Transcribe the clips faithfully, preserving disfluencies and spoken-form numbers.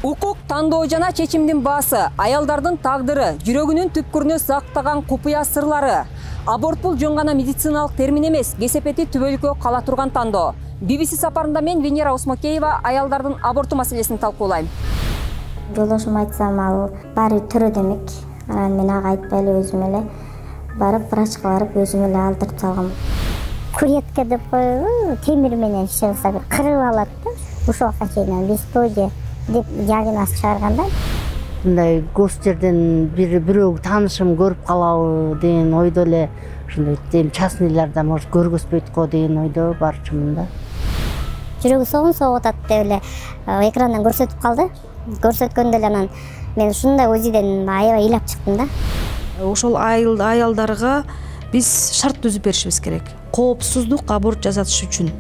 Укук тандоо жана чечимдин баасы, аялдардын тагдыры, жүрөгүнүн түпкүрүнө сактаган купуя сырлары. Аборт бул жөн гана медициналык термин эмес, кесепети түбөлүккө кала турган тандоо. би би си сапарында мен Венера Осмокеева аялдардын аборту маселесин талкуулайм. Жолдошум айтсам, ал баары төрө демек. Анан мен ага айтпай эле өзүм эле барып врачка барып өзүм эле алдырып салгам. Куретка деп коюу, темир менен иши кылса бир кырып алат да. Ушуга чейин бесплодие деп диагноз чыгарганда, мындай көз жерден бир бирөө таанышым көрүп калабы деген ойдо эле ушундай эми частныйларда может көргөзбөйт го деген ойдо барчумун да. Жүрөгү согун согуп атат деп эле экрандан көрсөтүп калды. Көрсөткөндө эле анан мен ушундай УЗИден аябай ыйлап чыктым да. Ошол аялдарга биз шарт түзүп беришибиз керек. Коопсуздук аборт жасатыш үчүн.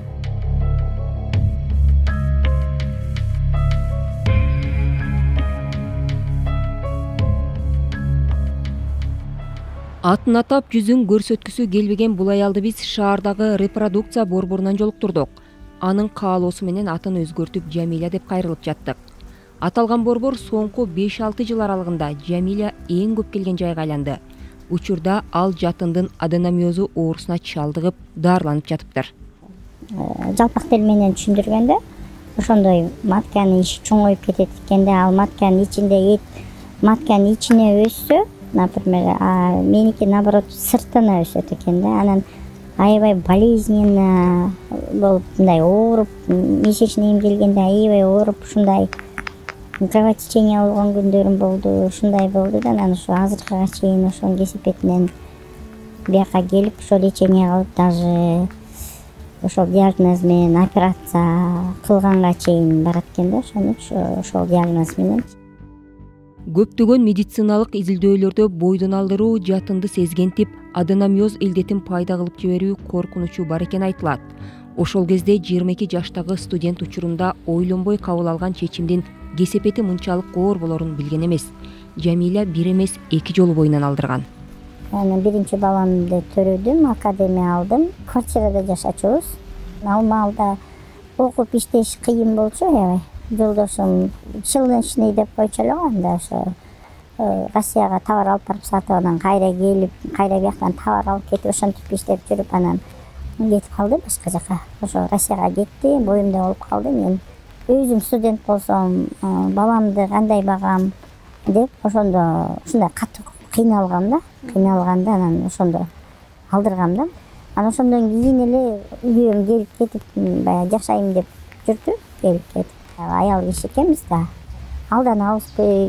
Атын атап жүзүн көрсөткүсү келбеген бул аялды биз шаардагы репродукция борборунан жолуктурдук. Анын каалоосу менен атын өзгөртүп Жамиля деп кайрылып жаттык. Аталган борбор соңку беш алты жыл аралыгында Жамиля эң көп келген жайга айланды. Учурда ал жатындын аденомиозу оорусуна чалдыгып, дарыланып жатыптыр. Жалпак тил менен түшүндүргөндө, ошондой матканын ичи чоңоюп кетет экен да, ал матканын ичинде эт матканын ичине өссө, например, а меники наоборот сыртына өсөт экен да. Анан аябай болезненно болуп, мындай ооруп, месячный эмгелгенде аябай ооруп, ушундай кровотечение болгон күндөрүм болду, ушундай болду да. Анан ушу азыркыга чейин ошонун кесепетинен бияка келип, ошо лечение кылып, даже ошол диагноз менен операция кылганга чейин барат экен да, ошону ошол диагноз менен. Көптөгөн медициналык изилдөөлөрдө бойдон алдыруу жатынды сезгентип, аденомиоз илдетин пайда кылып жиберүү коркунучу бар экени айтылат. Ошол кезде жыйырма эки жаштагы студент учурунда ойлонбой кабыл алган чечимдин кесепети мынчалык оор болорун билген эмес. Жамиля бир эмес эки жолу боюнан алдырган. Анан биринчи баламды төрөдүм, академия алдым. Квартирада жашачубуз. Ал маалда окуп иштеш кыйын болчу аябай. Жолдошум чылнычный деп койчу эле го, анда ошо Россияга товар алып барып сатып, анан кайра келип, кайра бияктан товар алып кетип, ошентип иштеп жүрүп, анан кетип калды башка жака. Ошо Россияга кетти, боюмда болуп калды. Мен өзүм студент болсом, баламды кандай багам деп ошондо ушундай катуу кыйналгам да. Кыйналганда анан ошондо алдыргам да. Анан ошондон кийин эле үйгө келип кетип, баягы жашайм деп жүрдү, келип кетип. Аял киши экенбиз да. Алданабызбы,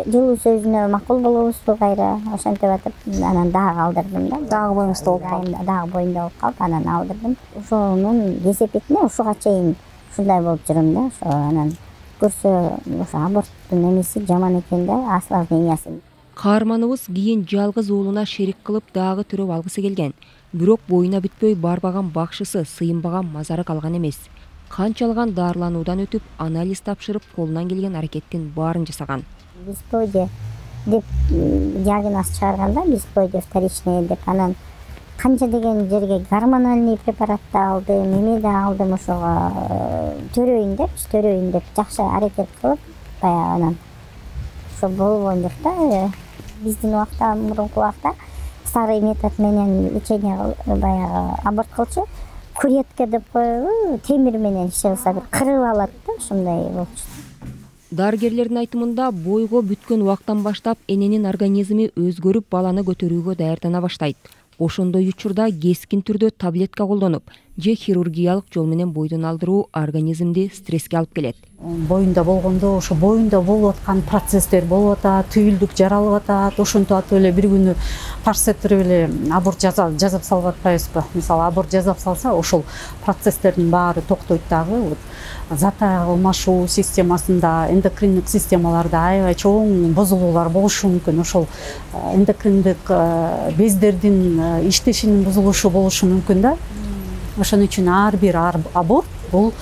жылуу сөзүнө макул болобузбу кайра, ошентип атып, анан дагы алдырдым да. Дагы боюңузда болуп калды. Дагы боюмда болуп калып, анан алдырдым. Ошонун кесепетине ушуга чейин ушундай болуп жүрөм да. Ошо анан көрсө, ошо аборттун эмеси жаман экен да, осложнениясы. Каарманыбыз кийин жалгыз уулуна шерик кылып дагы төрөп алгысы келген. Бирок боюна бүтпөй барбаган бакшысы, сыйынбаган мазары калган эмес. Канчалган дарылануудан өтүп, анализ тапшырып, колунан келген аракеттин баарын жасаган. Бесплодие деп диагноз чыгарганда, бесплодие вторичный деп, анан канча деген жерге гормональный препаратты алдым, эме да алдым, ошого төрөйүн деп, төрөйүн деп жакшы аракет кылып, баягы анан ошо болбойм деп да. Биздин убакта, мурунку убакта старый метод менен лечение баягы аборт кылчу. Куретка деп коюу, темир менен иши кылса бир кырып алат да, ушундай болчу. Дарыгерлердин айтымында бойго бүткөн убактан баштап эненин организми өзгөрүп, баланы көтөрүүгө даярдана баштайт. Ошондой учурда кескин түрдө таблетка колдонуп, же хирургиялык жол менен бойдон алдыруу организмди стресске алып келет. Боюнда болгондо ошо боюнда болуп аткан процесстер болуп атат, түйүлдүк жаралып атат, ошентип атып эле бир күнү тарс этирип эле аборт жасап салып атпайбызбы? Мисалы, аборт жасап салса, ошол процесстердин баары токтойт дагы. Зат алмашуу системасында, эндокриндик системаларда аябай чоң бузулуулар болушу мүмкүн. Ошол эндокриндик бездердин иштешинин бузулушу болушу мүмкүн да. Ошон үчүн ар бир аборт бул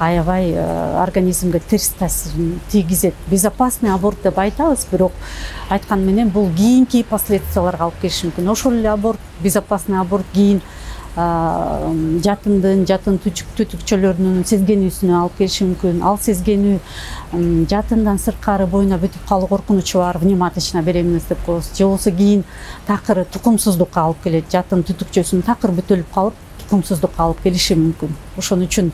аябай организмге терс таасирин тийгизет. Безопасный аборт деп айтабыз, бирок айткан менен бул кийинки последствияларга алып келиши мүмкүн. Ошол эле аборт, безопасный аборт кийин жатындын жатын түтүкчөлөрүнүн сезгенүүсүнө алып келиши мүмкүн. Ал сезгенүү жатындан сырткары боюна бүтүп калуу коркунучу бар, внематочная беременность деп коебуз. Же болбосо кийин такыр тукумсуздукка алып келет. Жатын түтүкчөсүн такыр бүтөлүп калып, тукумсуздукка алып келиши мүмкүн. Ошон үчүн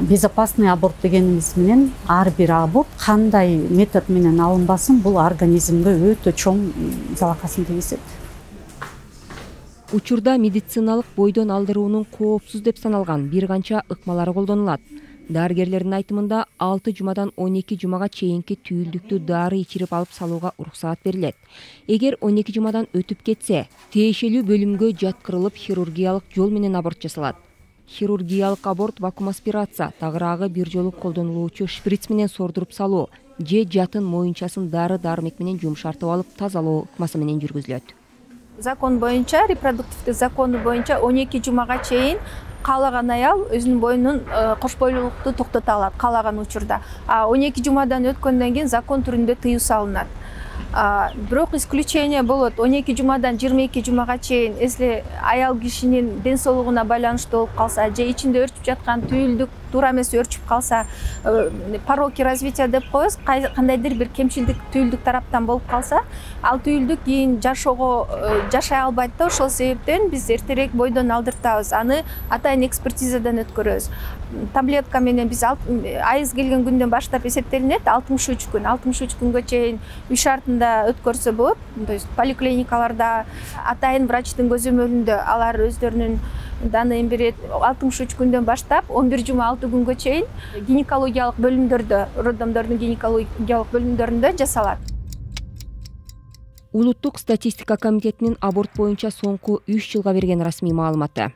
безопасный аборт дегенибиз менен ар бир аборт кандай метод менен алынбасын, бул организмге өтө чоң залакасын тийгизет. Учурда медициналык бойдон алдыруунун коопсуз деп саналган бир канча ыкмалары колдонулат. Дарыгерлердин айтымында алты жумадан он эки жумага чейинки түйүлдүктү дары ичирип алып салууга уруксаат берилет. Эгер он эки жумадан өтүп кетсе, тиешелүү бөлүмгө жаткырылып хирургиялык жол менен аборт жасалат. Хирургиялык аборт вакуум аспирация, тагыраагы бир жолу колдонулуучу шприц менен сордуруп салуу же жатын моюнчасын дары-дармек менен жумшартып алып тазалоо ыкмасы менен жүргүзүлөт. Закон боюнча, репродуктивдик закону боюнча он эки жумага чейин каалаган аял өзүнүн боюнун кош бойлуулукту токтото алат каалаган учурда. А он эки жумадан өткөндөн кийин закон түрүндө тыюу салынат. Бирок исключение болот. он эки жумадан жыйырма эки жумага чейин, если аял кишинин ден соолугуна байланыштуу болуп калса, же ичинде өрчүп жаткан түйүлдүк туура эмес өрчүп калса, пороки развития деп коебуз, кандайдыр бир кемчилдик түйүлдүк тараптан болуп калса, ал түйүлдүк кийин жашоого жашай албайт да. Ошол себептен биз эртерээк бойдон алдыртабыз. Аны атайын экспертизадан өткөрөбүз. Таблетка менен биз айыз келген күндөн баштап эсептелинет, алтымыш үч күн. алтымыш үч күнгө чейин үй шартында өткөрсө болот. То есть поликлиникаларда атайын врачтын көзөмөлүндө алар өздөрүнүн данныйын берет. алтымыш үч күндөн баштап он бир жума алты күнгө чейин гинекологиялык бөлүмдөрдө, роддомдордун гинекологиялык бөлүмдөрүндө жасалат. Улуттук статистика комитетинин аборт боюнча соңку үч жылга берген расмий маалыматы.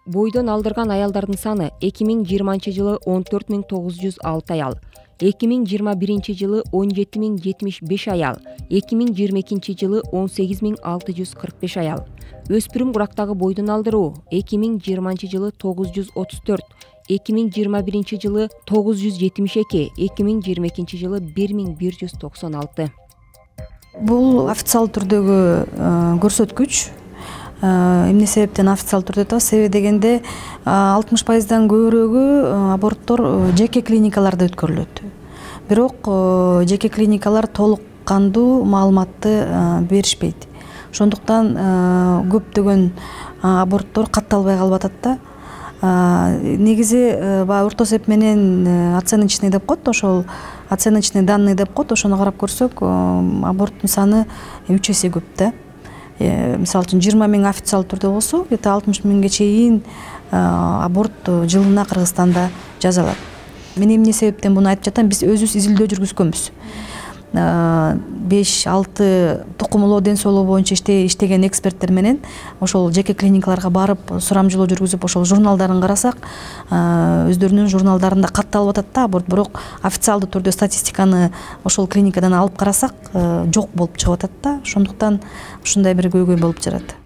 Бойдон алдырган аялдардын саны эки миң жыйырманчы жылы он төрт миң тогуз жүз алты аял, эки миң жыйырма биринчи жылы он жети миң жетимиш беш аял, эки миң жыйырма экинчи жылы он сегиз миң алты жүз кырк беш аял. Өспүрүм курактагы бойдон алдыруу эки миң жыйырманчы жылы тогуз жүз отуз төрт, эки миң жыйырма биринчи жылы тогуз жүз жетимиш эки, эки миң жыйырма экинчи жылы бир миң бир жүз токсон алты. Бул официалдуу түрдөгү көрсөткүч. Эмне себептен официалдуу түрдө атабыз? Себеби дегенде алтымыш пайыздан көбүрөөгү аборттор жеке клиникаларда өткөрүлөт. Бирок жеке клиникалар толук кандуу маалыматты беришпейт. Ошондуктан көптөгөн аборттор катталбай калып атат да. Негизи баягы орто эсеп менен оценочный деп коет, ошол оценочный данные деп коет, ошону карап көрсөк, аборттун саны үч эсе көп да. Мисалы үчүн жыйырма миң официалдуу түрдө болсо, где-то алтымыш миңге чейин аборт жылына Кыргызстанда жасалат. Мен эмне себептен буну айтып жатам? Биз өзүбүз изилдөө жүргүзгөнбүз. беш алты тукумулоо ден соолугу боюнча иштеген эксперттер менен ошол жеке клиникаларга барып сурамжылоо жүргүзүп, ошол журналдарын карасак, өздөрүнүн журналдарында катталып атат да аборт. Бирок официалдуу түрдө статистиканы ошол клиникадан алып карасак, жок болуп чыгып атат да. Ошондуктан ушундай бир көйгөй болуп жатат.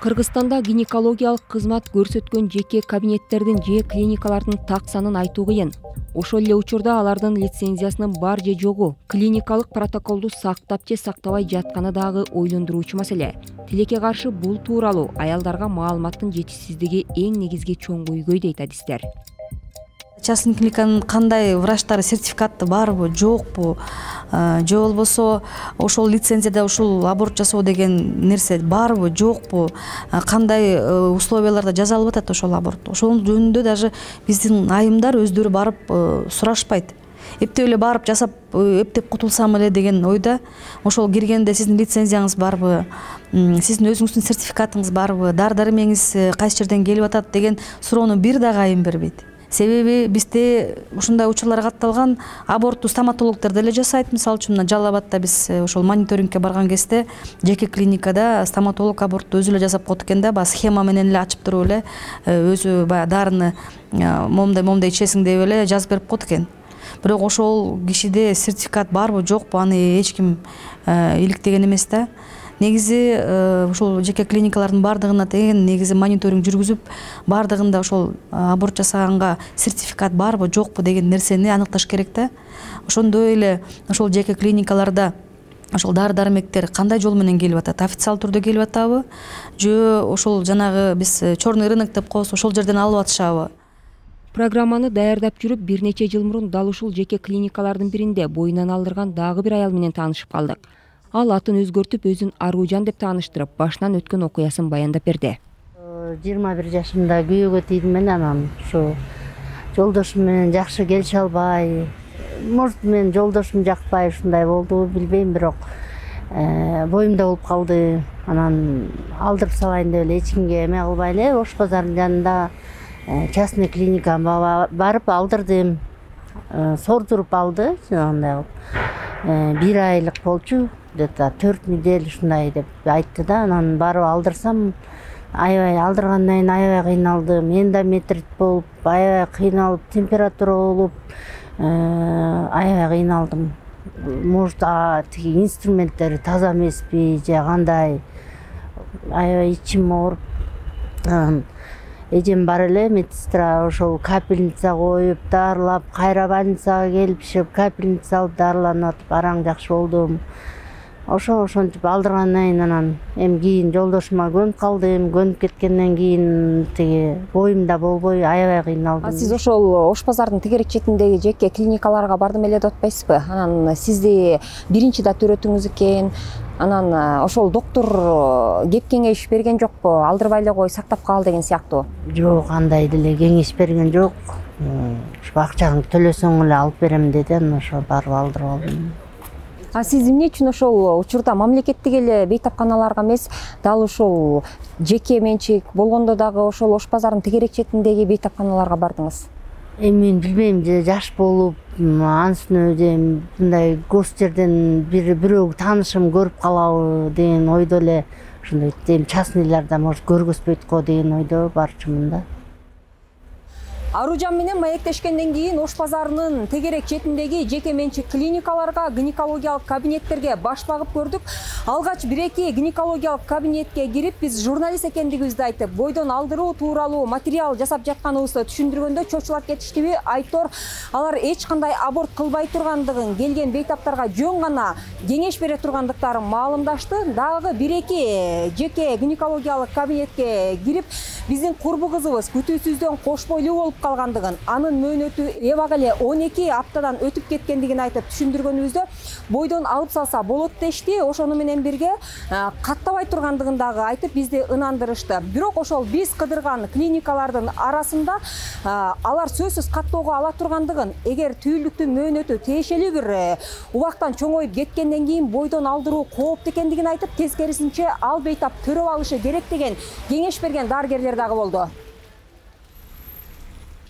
Кыргызстанда гинекологиялык кызмат көрсөткөн жеке кабинеттердин же клиникалардын так санын айтуу кыйын. Ошол эле учурда алардын лицензиясынын бар же жогу, клиникалык протоколду сактап же сактабай жатканы дагы ойлондуруучу маселе. Тилекке каршы бул тууралуу аялдарга маалыматтын жетишсиздиги эң негизги чоң көйгөй дейт адистер. Частный клиниканын кандай врачтары сертификаты барбы, жокпу, же болбосо ошол лицензияда ушул аборт жасоо деген нерсе барбы, жокпу, кандай условияларда жасалып атат ошол аборт. Ошол жөнүндө даже биздин айымдар өздөрү барып сурашпайт. Эптеп эле барып жасап, эптеп кутулсам эле деген ойда. Ошол киргенде сиздин лицензияңыз барбы, сиздин өзүңүздүн сертификатыңыз барбы, дары-дармегиңиз кайсы жерден келип атат деген суроону бир дагы айым бербейт. Себеби бизде ушундай учурлар катталган, абортту стоматологдор деле жасайт. Мисалы үчүн мына Жалал Абадта биз ошол мониторингке барган кезде жеке клиникада стоматолог абортту өзү эле жасап коет экен да, баягы схема менен эле ачып туруп эле өзү баягы дарыны момундай момундай ичесиң деп эле жазып берип коет экен. Бирок ошол кишиде сертификат барбы, жокпу, аны эч ким иликтеген эмес да. Негизи ошол жеке клиникалардын бардыгына деген негизи мониторинг жүргүзүп, бардыгында ошол аборт жасаганга сертификат барбы, жокпу деген нерсени аныкташ керек да. Ошондой эле ошол жеке клиникаларда ошол дары дармектер кандай жол менен келип атат, официалдуу түрдө келип атабы же ошол жанагы биз черный рынок деп коебуз, ошол жерден алып атышабы? Программаны даярдап жүрүп бир нече жыл мурун дал ушул жеке клиникалардын биринде боюнан алдырган дагы бир аял менен таанышып калдык. Ал атын өзгөртүп өзүн Аружан деп тааныштырып, башынан өткөн окуясын баяндап берди. жыйырма бир жашымда күйөөгө тийдим мен, анан ушу жолдошум менен жакшы келише албай, может мен жолдошум жакпай ушундай болду, билбейм, бирок боюмда болуп калды. Анан алдырып салайын деп эле эч кимге эме кылбай эле Ош базарынын жанында частный клиникага барып алдырдым. Сордуруп алды, андай кылып. Бир айлык болчу, где-то төрт недель ушундай деп айтты да. Анан барып алдырсам, аябай алдыргандан кийин аябай кыйналдым. Эндометрит болуп, аябай кыйналып, температура болуп, аябай кыйналдым. Может, тиги инструменттери таза эмеспи же кандай, аябай ичим ооруп. Эжем бар эле, медсестра ошол капельница коюп, дарылап, кайра больницага келип ишеп, капельница алып дарыланып атып, араң жакшы болдум. Ошо ошентип алдыргандан кийин анан эми кийин жолдошума көнүп калдым. Көнүп кеткенден кийин тиги боюмда болбой аябай кыйналдым. А сиз ошол Ош базардын тегерек четиндеги жеке клиникаларга бардым эле деп атпайсызбы? Анан сизди биринчи да төрөтүңүз экен. Анан ошол доктор кеп кеңеш берген жокпу? Алдырбай эле кой, сактап кал деген сыяктуу. Жок, андай деле кеңеш берген жок. Ушу акчаңды төлөсөң эле алып берем деди, анан ошо барып алдырып алдым. А сиз эмне үчүн ошол учурда мамлекеттик эле бейтапканаларга эмес, дал ушул жеке менчик болгондо дагы ошол Ош базарынын тегерек четиндеги бейтапканаларга бардыңыз? Эми мен билбейм, же жаш болуп, анысына же мындай гос жерден бир бирөө таанышым көрүп калабы деген ойдо эле ушундай эми частныйларда может көргөзбөйт го деген ойдо барчумун да. Аружан менен маектешкенден кийин Ош базарынын тегерек четиндеги жеке менчик клиникаларга, гинекологиялык кабинеттерге баш багып көрдүк. Алгач бир-эки гинекологиялык кабинетке кирип, биз журналист экендигибизди айтып, бойдон алдыруу тууралуу материал жасап жатканыбызды түшүндүргөндө чочулап кетиштиби? Айтор, алар эч кандай аборт кылбай тургандыгын, келген бейтаптарга жөн гана кеңеш бере тургандыктарын маалымдашты. Дагы бир-эки жеке гинекологиялык кабинетке кирип, биздин курбу кызыбыз күтүүсүздөн кош бойлуу болуп калгандыгын, анын мөөнөтү эбак эле он эки аптадан өтүп кеткендигин айтып түшүндүргөнүбүздө, бойдон алып салса болот дешти. Ошону менен бирге каттабай тургандыгын дагы айтып бизди ынандырышты. Бирок ошол биз кыдырган клиникалардын арасында алар сөзсүз каттоого ала тургандыгын, эгер түйүлдүктүн мөөнөтү тиешелүү бир убактан чоңоюп кеткенден кийин бойдон алдыруу кооптуу экендигин айтып, тескерисинче ал бейтап төрөп алышы керек деген кеңеш берген дарыгерлер дагы болду.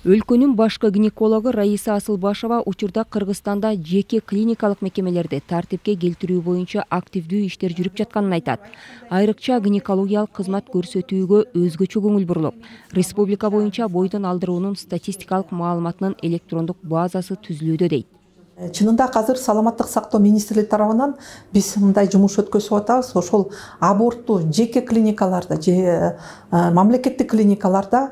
Өлкөнүн башкы гинекологу Раиса Асылбашева учурда Кыргызстанда жеке клиникалык мекемелерди тартипке келтирүү боюнча активдүү иштер жүрүп жатканын айтат. Айрыкча гинекологиялык кызмат көрсөтүүгө өзгөчө көңүл бурулуп, республика боюнча бойдон алдыруунун статистикалык маалыматынын электрондук базасы түзүлүүдө дейт. Чынында азыр саламаттык сактоо министрлиги тарабынан биз мындай жумуш өткөзүп атабыз. Ошол абортту жеке клиникаларда же мамлекеттик клиникаларда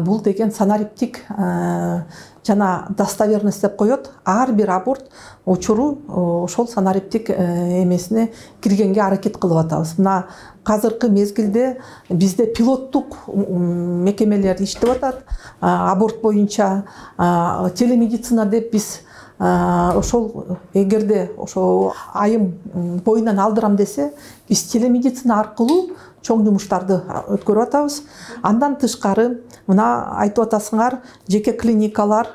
бул деген санариптик жана достоверность деп коет. Ар бир аборт учуру ошол санариптик эмесине киргенге аракет кылып атабыз. Мына азыркы мезгилде бизде пилоттук мекемелер иштеп атат. Аборт боюнча телемедицина деп биз ошол эгерде ошо айым боюнан алдырам десе, биз телемедицина аркылуу чоң жумуштарды өткөрүп атабыз. Андан тышкары мына айтып атасыңар, жеке клиникалар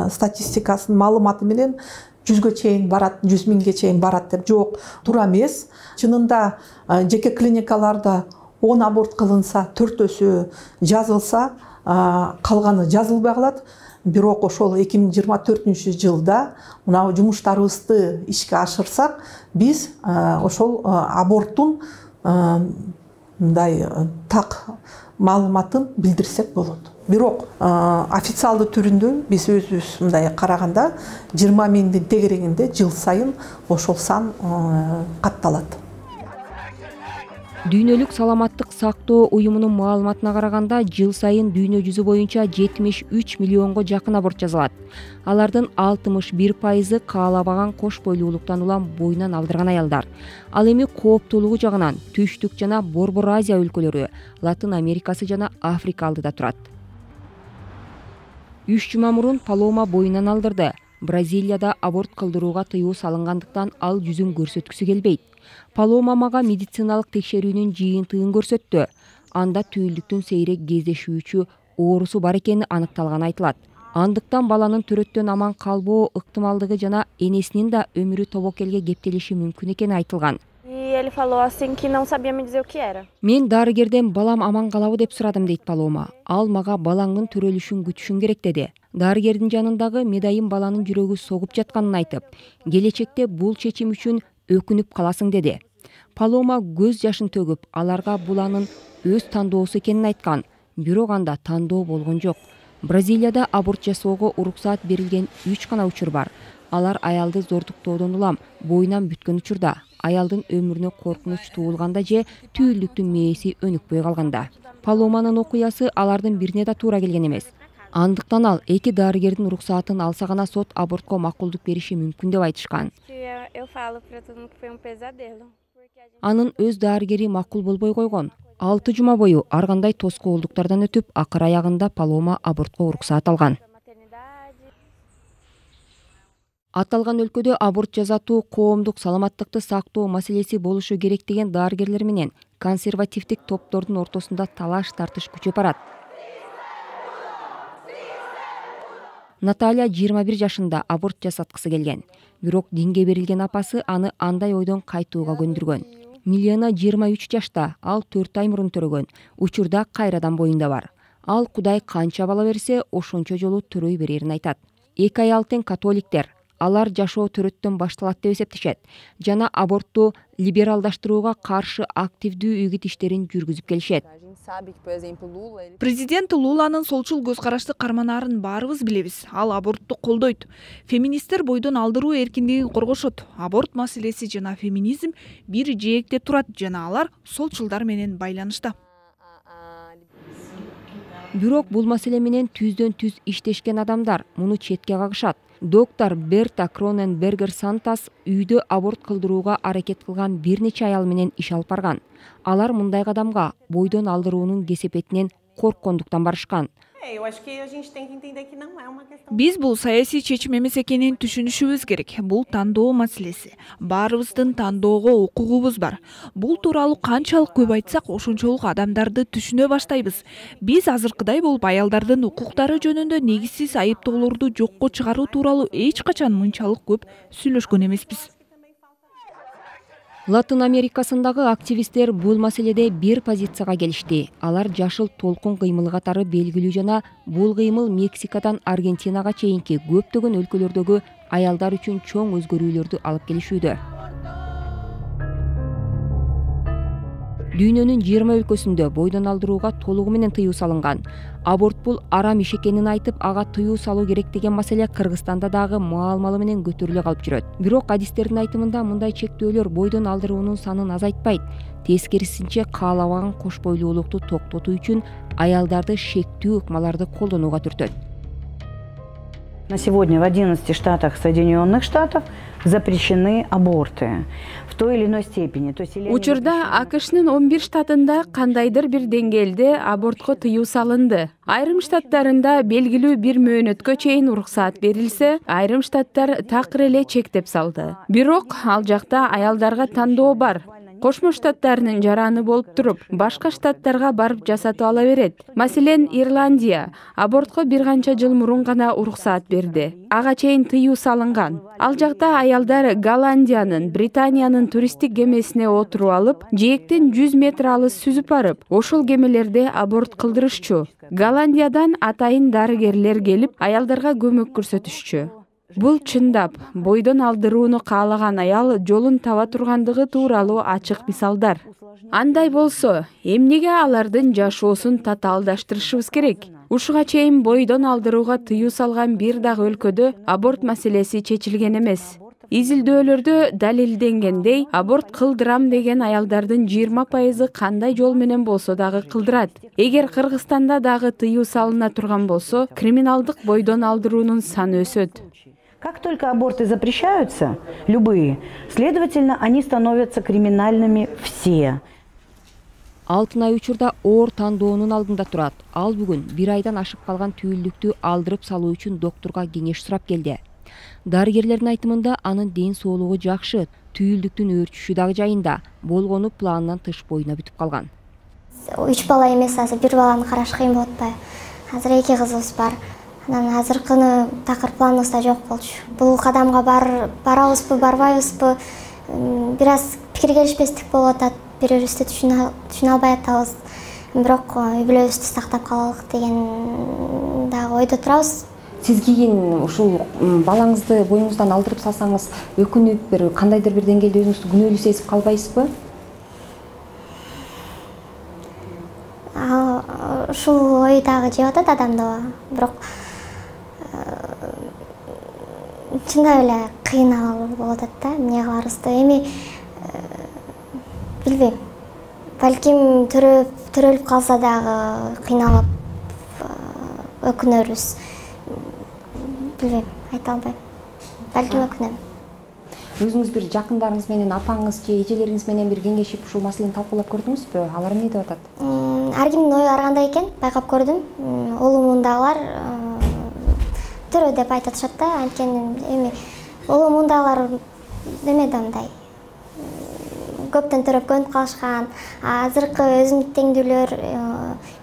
статистикасынын маалыматы менен жүзгө чейин барат, жүз миңге чейин барат деп. Жок, туура эмес. Чынында жеке клиникаларда он аборт кылынса, төртөөсү жазылса, калганы жазылбай калат. Бирок ошол эки миң жыйырма төртүнчү жылда мына жумуштарыбызды ишке ашырсак, биз ошол аборттун мындай так маалыматын билдирсек болот. Бирок официалдуу түрүндө биз өзүбүз мындай караганда жыйырма миңдин тегерегинде жыл сайын ошол сан катталат. Дүйнөлүк саламаттык сактоо уюмунун маалыматына караганда жыл сайын дүйнө жүзү боюнча жетимиш үч миллионго жакын аборт жасалат. Алардын алтымыш бир пайызы каалабаган кош бойлуулуктан улам боюнан алдырган аялдар. Ал эми кооптуулугу жагынан Түштүк жана Борбор Азия өлкөлөрү, Латын Америкасы жана Африка алдыда турат. Үч жума мурун Палома боюнан алдырды. Бразилияда аборт кылдырууга тыюу салынгандыктан ал жүзүн көрсөткүсү келбейт. Палома мага медициналык текшерүүнүн жыйынтыгын көрсөттү. Анда түйүлдүктүн сейрек кездешүүчү оорусу бар экени аныкталганы айтылат. Андыктан баланын төрөттөн аман калбоо ыктымалдыгы жана энесинин да өмүрү тобокелге кептелиши мүмкүн экени айтылган. Мен дарыгерден балам аман калабы деп сурадым, дейт Палома. Ал мага балаңдын төрөлүшүн күтүшүң керек деди. Дарыгердин жанындагы медайым баланын жүрөгү согуп жатканын айтып, келечекте бул чечим үчүн өкүнүп каласың деди. Палома көз жашын төгүп, аларга буланын өз тандоосу экенин айткан, бирок анда тандоо болгон жок. Бразилияда аборт жасоого уруксаат берилген үч гана учур бар. Алар аялды зордуктоодон улам боюнан бүткөн учурда, аялдын өмүрүнө коркунуч туулганда же түйүлдүктүн мээси өнүкпөй калганда. Паломанын окуясы алардын бирине да туура келген эмес. Андыктан ал эки дарыгердин уруксаатын алса гана сот абортко макулдук бериши мүмкүн деп айтышкан. Анын өз дарыгери макул болбой койгон. Алты жума бою ар кандай тоскоолдуктардан өтүп, акыр аягында Палома абортко уруксаат алган. Аталган өлкөдө аборт жасатуу коомдук саламаттыкты сактоо маселеси болушу керек деген дарыгерлер менен консервативдик топтордун ортосунда талаш тартыш күчөп барат. Наталья жыйырма бир жашында аборт жасаткысы келген. Бирок динге берилген апасы аны андай ойдон кайтууга көндүргөн. Милена жыйырма үч жашта, ал төрт ай мурун төрөгөн. Учурда кайрадан боюнда бар. Ал Кудай канча бала берсе, ошончо жолу төрөй берерин айтат. Эки аял тең католиктер. Алар жашоо төрөттөн башталат деп эсептешет жана абортту либералдаштырууга каршы активдүү үгүт иштерин жүргүзүп келишет. Президент Луланын солчул көз карашты карманаарын баарыбыз билебиз. Ал абортту колдойт. Феминисттер бойдон алдыруу эркиндигин коргошот. Аборт маселеси жана феминизм бир жээкте турат жана алар солчулдар менен байланышта. Бирок бул маселе менен түздөн түз иштешкен адамдар муну четке кагышат. Доктор Берта Кроненбергер Сантас үйдө аборт кылдырууга аракет кылган бир нече аял менен иш алып барган. Алар мындай кадамга бойдон алдыруунун кесепетинен корккондуктан барышкан. Биз бул саясий чечим эмес экенин түшүнүшүбүз керек. Бул тандоо маселеси. Баарыбыздын тандоого укугубуз бар. Бул тууралуу канчалык көп айтсак, ошончолук адамдарды түшүнө баштайбыз. Биз азыркыдай болуп аялдардын укуктары жөнүндө негизсиз айыптоолорду жокко чыгаруу тууралуу эч качан мынчалык көп сүйлөшкөн эмеспиз. Латын Америкасындагы активисттер бул маселеде бир позицияга келишти. Алар жашыл толкун кыймылы катары белгилүү жана бул кыймыл Мексикадан Аргентинага чейинки көптөгөн өлкөлөрдөгү аялдар үчүн чоң өзгөрүүлөрдү алып келишүүдө. Дүйнөнүн жыйырма өлкөсүндө бойдон алдырууга толугу менен тыюу салынган. Аборт бул арам иш экенин айтып, ага тыюу салуу керек деген маселе Кыргызстанда дагы маал-малы менен көтөрүлө калып жүрөт. Бирок адистердин айтымында мындай чектөөлөр бойдон алдыруунун санын азайтпайт. Тескерисинче каалабаган кош бойлуулукту токтотуу үчүн аялдарды шектүү ыкмаларды колдонууга түртөт. На сегодня в одиннадцати штатах Соединенных Штатов запрещены аборты в той или иной степени. Учурда АКШнын он бир штатында кандайдыр бир деңгээлде абортко тыюу салынды. Айрым штаттарында белгилүү бир мөөнөткө чейин уруксаат берилсе, айрым штаттар такыр эле чектеп салды. Бирок ал жакта аялдарга тандоо бар. Кошмо Штаттарынын жараны болуп туруп, башка штаттарга барып жасатып ала берет. Маселен, Ирландия абортко бир канча жыл мурун гана уруксаат берди. Ага чейин тыюу салынган. Ал жакта аялдар Голландиянын, Британиянын туристтик кемесине отуруп алып, жээктен жүз метр алыс сүзүп барып, ошол кемелерде аборт кылдырышчу. Голландиядан атайын дарыгерлер келип, аялдарга көмөк көрсөтүшчү. Бул чындап, бойдон алдырууну каалаган аял жолун таба тургандыгы тууралуу ачык мисалдар. Андай болсо, эмнеге алардын жашоосун татаалдаштырышыбыз керек? Ушуга чейин бойдон алдырууга тыюу салган бир дагы өлкөдө аборт маселеси чечилген эмес. Изилдөөлөрдө далилденгендей, аборт кылдырам деген аялдардын жыйырма пайызы кандай жол менен болсо дагы кылдырат. Эгер Кыргызстанда дагы тыюу салына турган болсо, криминалдык бойдон алдыруунун саны өсөт. Как только аборты запрещаются, любые, следовательно, они становятся криминальными все. Алтынай учурда оор тандоонун алдында турат. Ал бүгүн бир айдан ашып калган түйүлдүктү алдырып салуу үчүн доктурга кеңеш сурап келди. Дарыгерлердин айтымында анын ден соолугу жакшы, түйүлдүктүн өөрчүшү дагы жайында, болгону планынан тыш боюна бүтүп калган. Үч бала эмес, азыр бир баланы караш кыйын болот атпайбы? Азыр эки кызыбыз бар. Анан азыркыны такыр планыбызда жок болчу. Бул кадамга бар барабызбы, барбайбызбы? Бир аз пикир келишпестик болуп атат. Бири-бирибизди түшүнө албай атабыз. Бирок үй бүлөбүздү сактап калалык деген дагы ойдо турабыз. Сиз кийин ушул балаңызды боюңуздан алдырып салсаңыз, өкүнүп, бир кандайдыр бир деңгээлде өзүңүздү күнөөлүү сезип калбайсызбы? Ушул ой дагы жеп атат адамды, бирок чындап эле кыйнал болуп атат да, эмне кыларыбызды. Эми билбейм. Балким төрөлүп калса дагы кыйналып өкүнөрбүз. Билбейм, айта албайм. Балким өкүнөм. Өзүңүз бир жакындарыңыз менен, апаңыз же эжелериңиз менен бир кеңешип ушул маселени талкуулап көрдүңүзбү? Алар эмне деп атат? Ар кимдин ою ар кандай экен, байкап көрдүм. Улумундагылар төрө деп айтышат да, анткени эми улумундагылар неме да мындай көптөн төрөп көнүп калышкан. Азыркы өзүмдүн теңдүүлөр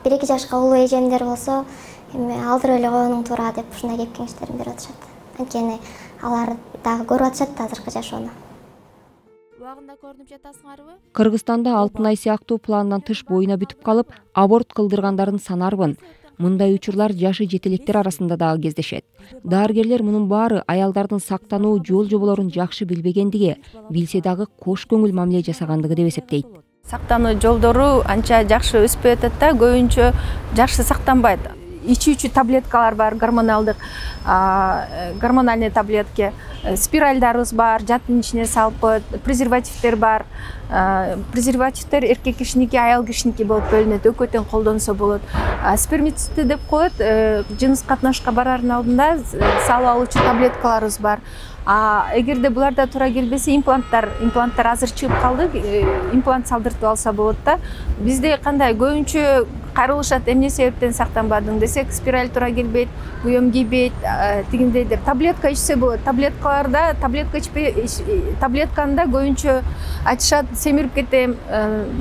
бир эки жашка улуу эжемдер болсо, эми алдырып эле коюуң туура деп ушундай кеп кеңештерин берип атышат. Анткени алар дагы көрүп атышат азыркы жашоону. Убагында көрүнүп жатасыңарбы? Кыргызстанда Алтынай сыяктуу пландан тыш боюна бүтүп калып, аборт кылдыргандардын саны арбын. Мындай учурлар жашы жетелектер арасында дагы кездешет. Дарыгерлер мунун баары аялдардын сактануу жол жоболорун жакшы билбегендиги, билсе дагы кош көңүл мамиле жасагандыгы деп эсептейт. Сактануу жолдору анча жакшы өспөй атат да, көбүнчө жакшы сактанбайт. Ичүүчү таблеткалар бар, гормоналдык, гормональный таблетки, спиральдарыбыз бар, жатын ичине салып коет, презервативдер бар. Презервативдер эркек кишиники, аял кишиники болуп бөлүнөт, экөө тең колдонсо болот. Спермицидти деп коет, жыныс катнашка барардын алдында салып алуучу таблеткаларыбыз бар. А эгерде буларда туура келбесе, импланттар, импланттар азыр чыгып калды, имплант салдыртып алса болот да. Бизде кандай көбүнчө кайрылышат, эмне себептен сактанбадың десек, спираль туура келбейт, буем кийбейт, тигиндей деп. Таблетка ичсе болот. Таблеткаларда, таблетка ичпей, таблетканда көбүнчө айтышат, семирип кетем,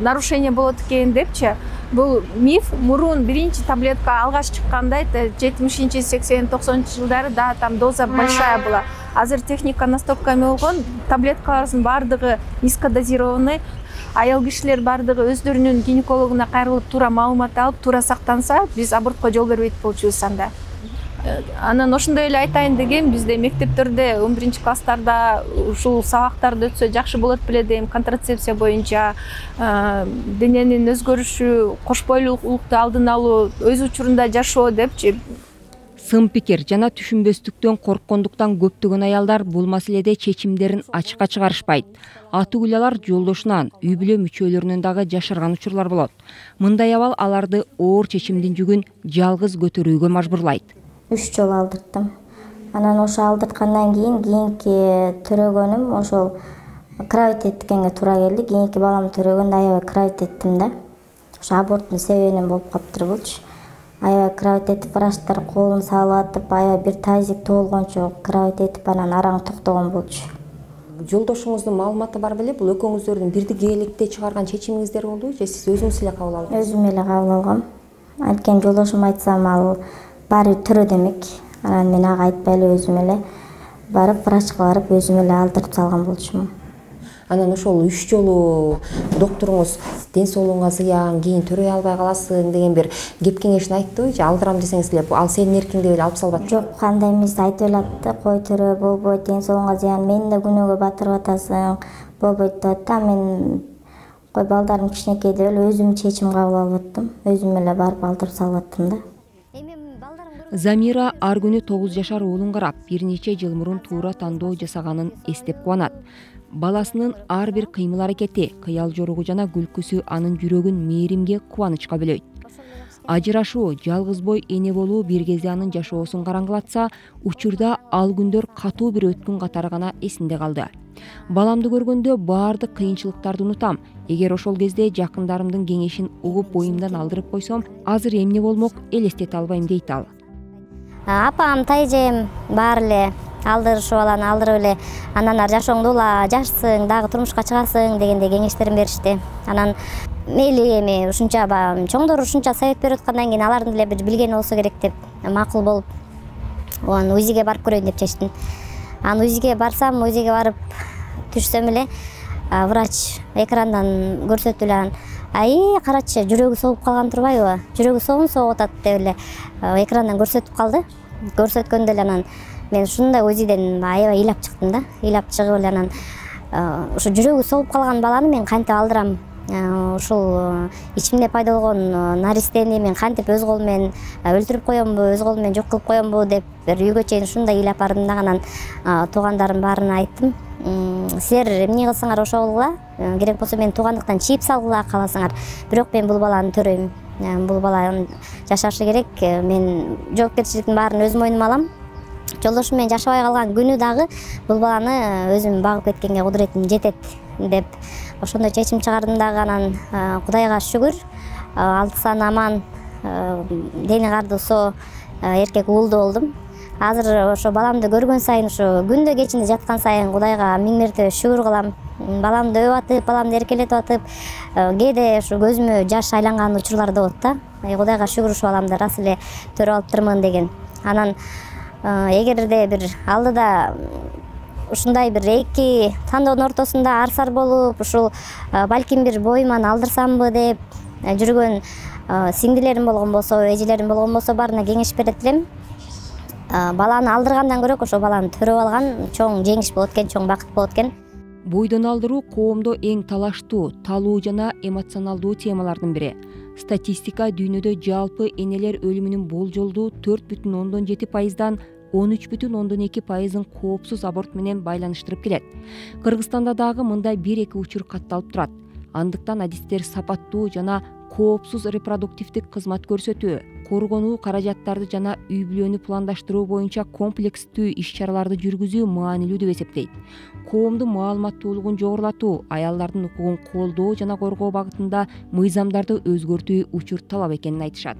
нарушение болот экен депчи. Бул миф. Мурун биринчи таблетка алгаш чыкканда, жетимишинчи, сексен, токсонунчу жылдары да там доза большая была. Азыр техника настолько эме болгон, таблеткалардын бардыгы низкодозированный. Аял кишилер бардыгы өздөрүнүн гинекологуна кайрылып, туура маалымат алып, туура сактанса, биз абортко жол бербейт болчубуз анда. Анан ошондой эле айтайын деген, бизде мектептерде он биринчи класстарда ушул сабактарды өтсө жакшы болот беле дейм, контрацепция боюнча, дененин өзгөрүшү, кош бойлуулукту алдын алуу, өз учурунда жашоо депчи. Сын пикир жана түшүнбөстүктөн корккондуктан көптөгөн аялдар бул маселеде чечимдерин ачыкка чыгарышпайт. Аты-гүлалар жолдошунан, үй бүлө мүчөлөрүнөн дагы жашырган учурлар болот. Мындай абал аларды оор чечимдин жүгүн жалгыз көтөрүүгө мажбурлайт. Үч жолу алдырттым. Анан ошо алдырткандан кийин кийинки төрөгөнүм ошол кровать эткенге туура келди. Кийинки балам төрөгөндө аябай кровать эттим да. Ошо аборттун себебинен болуп калыптыр булчу. Аябай кровать этип, врачтар колун салып атып, аябай бир тазик толгончо кровать этип, анан араң токтогон болчу. Жолдошуңуздун маалыматы бар беле? Бул экөөңүздөрдүн бирдикеликте чыгарган чечимиңиздер болдубу же сиз өзүңүз эле кабыл алдыңыз? Өзүм эле кабыл алгам. Анткени жолдошум айтсам ал баары төрө демек. Анан мен ага айтпай эле өзүм эле барып, врачка барып, өзүм эле алдырып салган болчумун. Анан ошол үч жолу доктуруңуз ден соолугуңа зыян, кийин төрөй албай каласың деген бир кеп кеңешин айтты же алдырам десеңиз эле ал сенин эркиң деп эле алып салбады? Жок, кандай эмес айтып эле атты, кой төрө, болбойт, ден соолугуңа зыян, мени да күнөөгө батырып атасың, болбойт деп атты. Мен кой балдарым кичинекей деп эле өзүм чечим кабыл алып аттым. Өзүм эле барып алдырып салып аттым да. Замира ар күнү тогуз жашар уулун карап, бир нече жыл мурун туура тандоо жасаганын эстеп кубанат. Баласынын ар бир кыймыл аракети, кыял жоругу жана күлкүсү анын жүрөгүн мээримге, кубанычка бөлөйт. Ажырашуу, жалгыз бой эне болуу бир кезде анын жашоосун караңгылатса, учурда ал күндөр катуу бир өткүн катары гана эсинде калды. Баламды көргөндө баардык кыйынчылыктарды унутам. Эгер ошол кезде жакындарымдын кеңешин угуп боюмдан алдырып койсом, азыр эмне болмок элестете албайм дейт ал. Апам, тайжем баары эле алдырышып аланы алдырып эле, анан жашооңду ула, жашсың, дагы турмушка чыгасың дегендей кеңештерин беришти. Анан мейли эми ушунча чоңдор ушунча совет берип аткандан кийин алардын деле бир билгени болсо керек деп макул болуп, анан УЗИге барып көрөйүн деп чечтим. Анан УЗИге барсам, УЗИге барып түшсөм эле врач экрандан көрсөтүп эле, ай карачы, жүрөгү согуп калган турбайбы, жүрөгү согун согуп атат деп эле экрандан көрсөтүп калды. Көрсөткөндө эле анан мен ушундай УЗИден аябай ыйлап чыктым да, ыйлап чыгып эле анан ушу жүрөгү согуп калган баланы мен кантип алдырам, ушул ичимде пайда болгон наристени мен кантип өз колум менен өлтүрүп коембу, өз колум менен жок кылып коембу деп бир үйгө чейин ушундай ыйлап бардым да, анан туугандарым баарына айттым. Силер эмне кылсаңар ошол кыла, керек болсо мен туугандыктан чип салгыла кааласаңар, бирок мен бул баланы төрөйм. Бул баланын жашашы керек, мен жоопкерчиликтин баарын өз мойнума алам. Жолдошум менен жашабай калган күнү дагы бул баланы өзүм багып кеткенге кудуретим жетет деп ошондой чечим чыгардым дагы. Анан Кудайга шүгүр, алты саны аман, дени карды соо эркек уулду болдум. Азыр ошо баламды көргөн сайын, ошо күндө кечинде жаткан сайын Кудайга миң мертебе шүгүр кылам. Баламды өп атып, баламды эркелетип атып, кээде ошо көзүмө жаш айланган учурлар да болот да. Кудайга шүгүр, ушу баламды рас эле төрөп алыптырмын деген. Анан эгерде бир алдыда ушундай бир эки тандоонун ортосунда арсар болуп, ушул балким бир боюман алдырсамбы деп жүргөн сиңдилерим болгон болсо, эжелерим болгон болсо, баарына кеңеш берет элем. Баланы алдыргандан көрөк ошо баланы төрөп алган чоң жеңиш болот экен, чоң бакыт болот экен. Бойдон алдыруу коомдо эң талаштуу, талуу жана эмоционалдуу темалардын бири. Статистика дүйнөдө жалпы энелер өлүмүнүн болжолдуу төрт бүтүн ондон жети пайыздан он үч бүтүн ондон эки пайызын коопсуз аборт менен байланыштырып келет. Кыргызстанда дагы мындай бир эки учур катталып турат. Андыктан адистер сапаттуу жана коопсуз репродуктивдик кызмат көрсөтүү, коргонуу каражаттарды жана үй бүлөнү пландаштыруу боюнча комплекстүү иш-чараларды жүргүзүү маанилүү деп эсептейт. Коомдун маалыматтуулугун жогорулатуу, аялдардын укугун колдоо жана коргоо багытында мыйзамдарды өзгөртүү учур талап экенин айтышат.